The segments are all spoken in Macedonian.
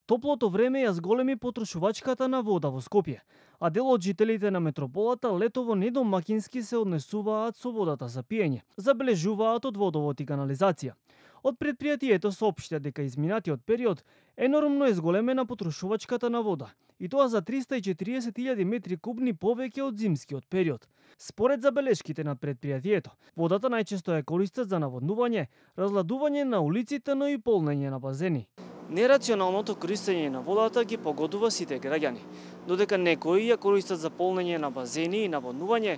Топлото време ја зголеми потрошувачката на вода во Скопје, а дел од жителите на метрополата летово недомакински се однесуваат со водата за пиење, забележуваат од водовод и канализација. Од предпријатието соопштија дека изминатиот период енормно е зголемена потрошувачката на вода, и тоа за 340.000 метри кубни повеќе од зимскиот период. Според забелешките на предпријатието, водата најчесто ја користат за наводнување, разладување на улиците, но и полнење на базени. Нерационалното користење на водата ги погодува сите граѓани, додека некои ја користат за полнење на базени и наводнување,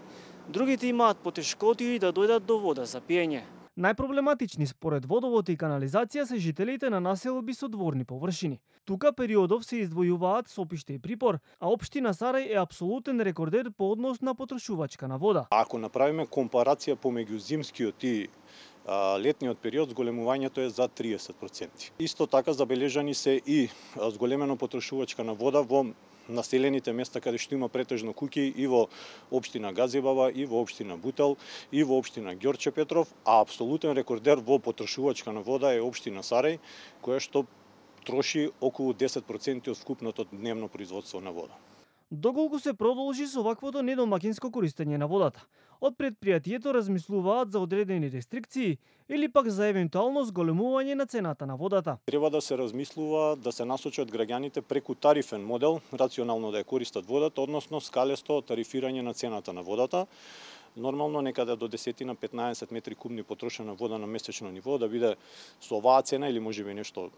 другите имаат потешкоти да дојдат до вода за пиење. Најпроблематични според водовод и канализација се жителите на населби со дворни површини. Тука периодов се издвојуваат Сопиште и Припор, а општина Сарај е апсолутен рекордер по однос на потрошувачка на вода. Ако направиме компарација помеѓу зимскиот и летниот период, зголемувањето е за 30%. Исто така забележани се и зголемено потрошувачка на вода во населените места каде што има претежно куќи и во општина Газибаба, и во општина Бутел, и во општина Ѓорче Петров, а апсолутен рекордер во потрошувачка на вода е општина Сарај, која што троши околу 10% од вкупното дневно производство на вода. Доколку се продолжи со ваквото недомакинско користење на водата, од предпријатието размислуваат за одредени рестрикции или пак за евентуално зголемување на цената на водата. Треба да се размислува да се насочат граѓаните преку тарифен модел, рационално да ја користат водата, односно скалесто тарифирање на цената на водата. Нормално некаде до 10-15 метри кубни потрошена вода на месечно ниво да биде со оваа цена или можеби нешто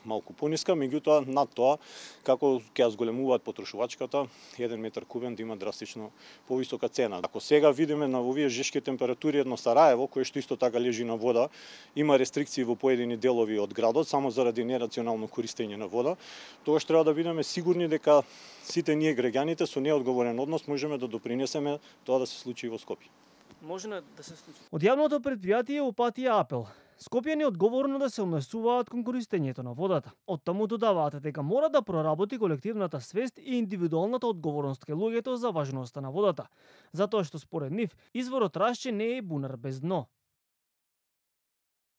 малку пониска, меѓутоа над тоа, како ќе ја зголемуваат потрошувачката, 1 метар кубен да има драстично повисока цена. Ако сега видиме на овие жешки температури едно Сараево, кое што исто така лежи на вода, има рестрикции во поедини делови од градот, само заради нерационално користење на вода, тогаш треба да бидеме сигурни дека сите ние граѓаните со неодговорен однос можеме да допринесеме тоа да се случи во Скопје. Може да се случи. Од јавното предпријатие упатија апел Скопјани одговорно да се однесуваат кон користењето на водата. Од таму додаваат дека мора да проработи колективната свест и индивидуалната одговорност кај луѓето за важноста на водата, затоа што според нив изворот Рашче не е бунар без дно.